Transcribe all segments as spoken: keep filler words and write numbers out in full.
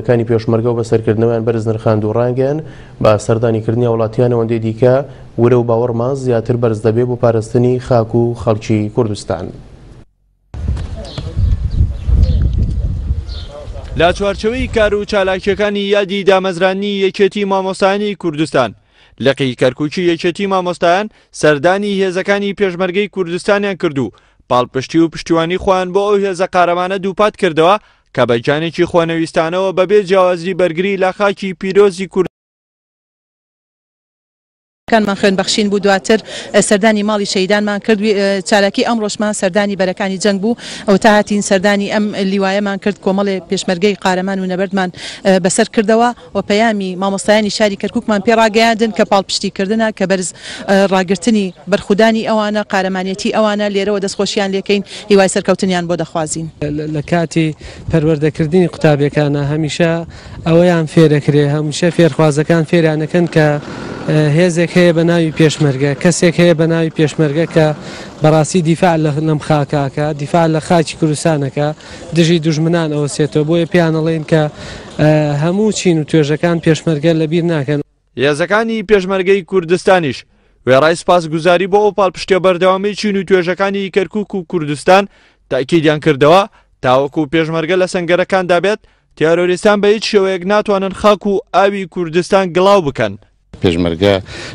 کانی پێشمەرگە و بەسەرکردنەوەیان بەرز نرخاند و ڕایانگەیاند بە سەردانیکردنی هاوڵاتیان ئەوەندەی دیکە ورە و باوەڕمان زیاتر بەرز دەبێت بۆ پاراستنی خاک و خەڵکی کوردستان. لە چوارچێوەی کار و چالاکیەکانی یادی دامەزرانی یەکێتی مامۆستایانی کوردستان، لقی کەرکوکی یەکێتی مامۆستایان سەردانی هێزەکانی پێشمەرگەی کوردستانیان کرد و پاڵپشتی و پشتیوانی خۆیان بۆ ئەو هێزە قارەمانە دووپات کردەوە کە بە گیانێکی خۆنەویستانەوە بەبێ جیاوازی بەرگری لە خاکی پیرۆزی کورد کانمان خوێن بەخشین بوو. دواتر سەردانی ماڵی شەهیدانمان کرد. چالاکی ئەمڕۆشمان سەردانی بەرەکانی جەنگ بوو. ئەو تا هاتین سەردانی ئەم لیوایەمان کرد، کۆمەڵێ پێشمەرگەی قارەمان و نەبەردمان بەسەر کردەوە و پەیامی مامۆستایانی شاری کەرکووکمان پێڕاگەیاندن کە پاڵپشتیکردنە، کە بەرز ڕاگرتنی بەرخودانی ئەوانە، قارەمانێتی ئەوانە، لێرەوە دەستخۆشیان لێکەین، هیوای سەرکەوتنیان بۆ دەخوازین. لە کاتی پەروەردەکردنی قوتابیەکانە هەمیشە ئەوەیان فێرەکرێ، هەمیشە فێرخوازەکان فێریانەکەن کە هێزێک هەیە بە ناوی پێشمەرگە، کەسێک هەیە بە ناوی پێشمەرگە کە بەڕاستی دیفاع لەم خاکاکە، دیفاع لە خاکی کوردستانەکە، دژی دوژمنان ئەوەسێتەوە. بۆیە پێیان ئەڵێن کە هەموو چین و توێژەکان پێشمەرگە لەبیر ناکەن. هێزەکانی پێشمەرگەی کوردستانیش وێڕای سوپاسگوزاری بۆ ئەو پاڵپشتیە بەردەوامی چین و توێژەکانی کەرکوک و کوردستان تاکیدیان کردەوە تاوەکو پێشمەرگە لە سەنگەرەکاندا بێت، تیرۆریستان بە هیچ شێوەیەک ناتوانن خاک و ئاوی کوردستان گڵاو بکەن. پێشمەرگە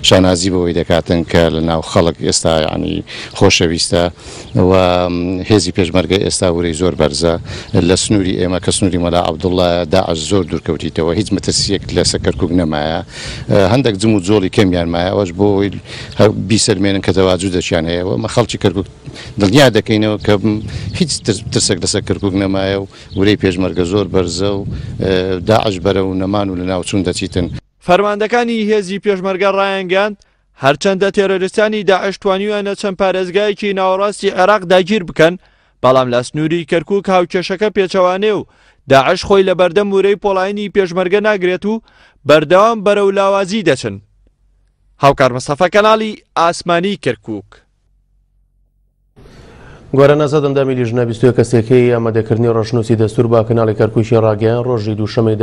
شانازی بەوەی دەکاتن کە لە ناو خەڵک ئێستا ینی خۆشەویستە و هێزی پێشمەرگە ئێستا ورەی زۆر بەرزە. لە سنووری ئێمە کە سنووری مەلا عەبدوڵڵا داعش زۆر دوورکەوتیتەوە، هیچ مەترسیەک لەسەر کەرکوک نەمایە، هەندێک جم و جۆڵی کەمیان مایە، ئەوەش بۆ ئەوەی بیسەلمێنن کە تەواجودێکیان هەیە. ئەمە خەڵکی کەرکوک دڵنیا دەکەینەوە کە هیچ ترسێک لەسەر کەرکوک نەمایە و ورەی پێشمەرگە زۆر بەرزە و داعش بەرەو نەمان و لە ناوچوون دەچیتن. فەرماندەکانی هێزی پێشمەرگە ڕایانگەیاند هەرچەندە تێرۆریستانی داعش توانیویانە چەند پارێزگایەکی ناوەڕاستی عێراق داگیر بکەن، بەڵام لە سنووری کەرکوک هاوکێشەکە پێچەوانێ و داعش خۆی لە بەردەم ورەی پۆڵاینی پێشمەرگە ناگرێت و بەردەوام بەرەو لاوازی دەچن. هاوکار مستەفا، کەناڵی ئاسمانی کەرکوک. گۆران ئازاد ئەندامی لیژنە بیست و یەک کەسێکەی ئامادەکردنی ڕەشنووسی دەستور بە کەناڵی کەرکوکی ڕاگەیان ڕۆژی دووشەمەی